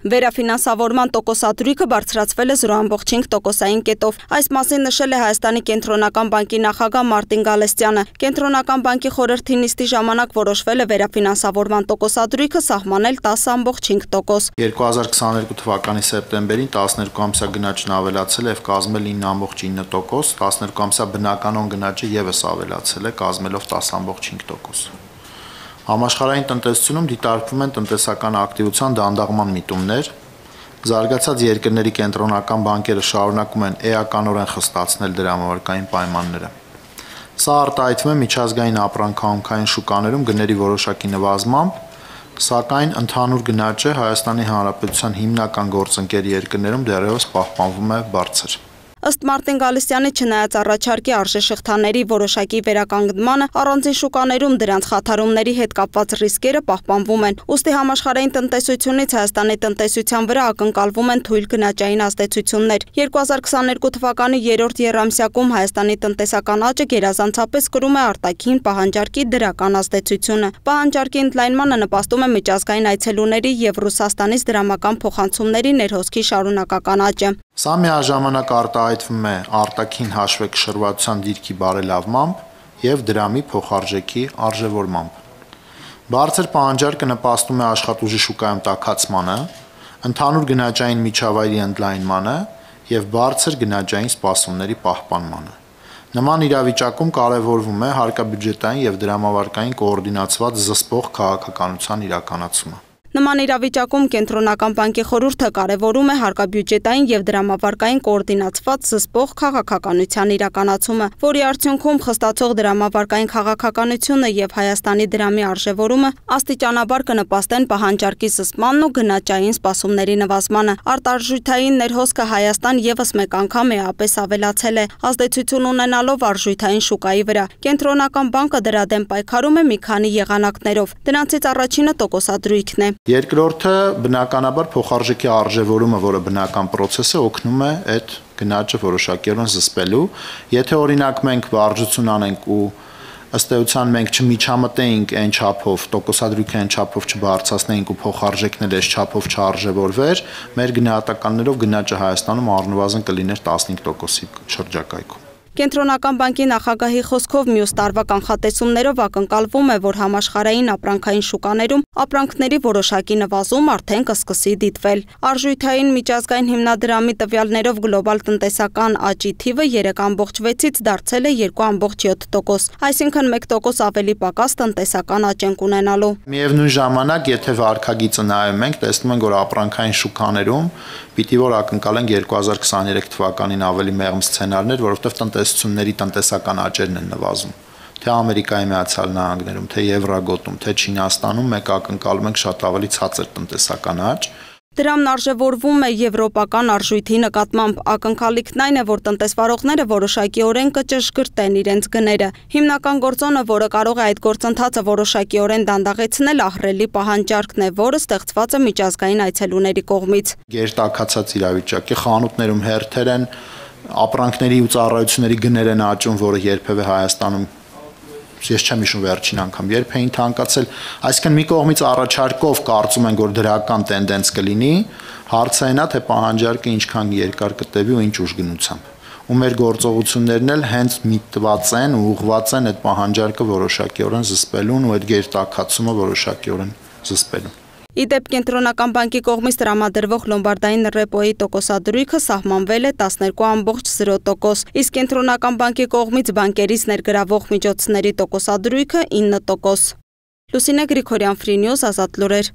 Վերաֆինանսավորման տոկոսադրույքը բարձրացվել է 0,5%-ային կետով։ Այս մասին նշել է Հայաստանի կենտրոնական բանկի նախագահ Մարտին Գալստյանը։ Կենտրոնական բանկի խորհրդի նիստի ժամանակ որոշվել է վերաֆինանսավորման տոկոսադրույքը սահմանել 10,5%։ 2022 թվականի սեպտեմբերին 12 ամսյա գնաճն ավելացել է եւ կազմել 9,9%, 12 ամսյա բնականon գնաճը եւս ավելացել է, կազմելով 10,5%։ Համաշխարհային տնտեսությունում դիտարկվում են տնտեսական ակտիվության դանդաղման միտումներ, զարգացած երկրների կենտրոնական բանկերը շարունակում են էականորեն խստացնել դրամավարկային պայմանները։ Սա արտահայտվում է միջազգային ապրանքահանքային շուկաներում գների որոշակի նվազմամբ, սակայն ընդհանուր գնաճը Հայաստանի Հանրապետության հիմնական գործընկեր երկրներում դեռևս պահպանվում է բարձր։ Ըստ Մարտին Գալստյանի, չնայած առաջարկի արժեշղթաների որոշակի վերականգնմանը, առանձին շուկաներում դրանց խաթարումների հետ կապված ռիսկերը պահպանվում են։ Ուստի համաշխարհային տնտեսությունից Հայաստանի տնտեսության վրա ակնկալվում են թույլ գնաճային ազդեցություններ։ 2022 թվականի երրորդ եռամսյակում Հայաստանի տնտեսական աճը գերազանցապես կրում է արտաքին պահանջարկի դրական ազդեցությունը։ Պահանջարկի ընդլայնմանը նպաստում է միջազգային այցելուների եւ Ռուսաստանից դրամական փոխանցումների ներհոսքի շարունակական աճը։ Սա միաժամանակ արտահայտվում է արտաքին հաշվեկշռվածության դիրքի բարելավմամբ եւ դրամի փոխարժեքի արժեվորմամբ։ Բարձր պահանջարկը նպաստում է աշխատուժի շուկայում տաքացմանը, ընդհանուր գնաճային միջավայրի ընդլայնմանը եւ բարձր գնաճային սպասումների պահպանմանը։ Նման իրավիճակում կարևորվում է հարկաբյուջետային եւ դրամավարկային կոորդինացված զսպող քաղաքականության իրականացումը։ Նման իրավիճակում կենտրոնական բանկի խորհուրդը կարևորում է հարկաբյուջետային եւ դրամավարկային կոորդինացված զսպող քաղաքականության իրականացումը, որի արդյունքում խստացող դրամավարկային քաղաքականությունը եւ Հայաստանի դրամի արժեվորումը աստիճանաբար կնպաստեն պահանջարկի զսպմանն ու գնաճային սպասումների նվազմանը։ Արտարժութային ներհոսքը Հայաստան եւս մեկ անգամ էապես ավելացել է, ազդեցություն ունենալով արժութային շուկայի վրա։ Կենտրոնական բանկը դրա դեմ պայքարում է մի քանի եղանակներով։ Դրանցից առաջինը տոկոսադրույքն է։ Երկրորդը բնականաբար փոխարժեքի արժեվորումը, որը բնական process է, օգնում է այդ գնաճը որոշակիորեն զսպելու։ Եթե օրինակ մենք վարժություն անենք ու ըստ էության մենք չմիջամտեինք այն չափով, տոկոսադրույքը այն չափով չբարձրացնեինք ու փոխարժեքն էլ այս չափով չարժևորվեր, մեր գնահատականներով գնաճը Հայաստանում առնվազն կլիներ 15%-ի շրջակայքում։ Կենտրոնական բանկի նախագահի խոսքով մյուս տարվա կանխատեսումներով ակնկալվում է, որ համաշխարհային ապրանքային շուկաներում ապրանքների որոշակի նվազում արդեն կսկսի դիտվել։ Արժութային միջազգային հիմնադրամի տվյալներով գլոբալ տնտեսական աճի թիվը 3,6-ից դարձել է 2,7%, այսինքն 1% ավելի պակաս տնտեսական աճ ենք ունենալու։ Միևնույն ժամանակ, եթե վարքագիծը նայում ենք, տեսնում ենք, որ ապրանքային շուկաներում պիտի որ ակնկալենք 2023 թվականին ավելի մեղմ սցենարներ, որովհետև տնտեսությունների տնտեսական աճերն են նվազում։ Թե Ամերիկայի Միացյալ Նահանգներում, թե Եվրագոտում, թե Չինաստանում մենք ակնկալում ենք շատ ավելի ցածր տնտեսական աճ։ Դրամն արժևորվում է եվրոպական արժույթի նկատմամբ։ Ակնկալիքն այն է, որ տնտեսվարողները որոշակիորեն կճշգրտեն իրենց գները։ Հիմնական գործոնը, որը կարող է այդ գործընթացը որոշակիորեն դանդաղեցնել, ահռելի պահանջարկն է, որը ստեղծված է միջազգային այցելուների կողմից։ Գերտաքացած իրավիճակի խանութներում հերթեր են, ապրանքների ու ծառայությունների գներ են աճում, որը երբևէ Հայաստանում ես չեմ հիշում վերջին անգամ երբ էին թանկացել, այսինքն մի կողմից առաջարկով կարծում ենք, որ դրական տենդենց կլինի, հարցը այն է, թե պահանջարկը ինչքան երկար կտևի ու ինչ ուժգնությամբ։ Ու մեր գործողություններն էլ հենց միտված են ու ուղղված են այդ պահանջարկը որոշակիորեն զսպելուն ու այդ գերտաքացումը որոշակիորեն զսպելուն։ Իդեպ կենտրոնական բանկի կողմից տրամադրվող լոմբարդային ռեպոյի տոկոսադրույքը սահմանվել է 12,0%, իսկ կենտրոնական բանկի կողմից բանկերից ներգրավող միջոցների տոկոսադրույքը 9%։ Լուսինե Գրիգորյան, Free News, Ազատ լուրեր։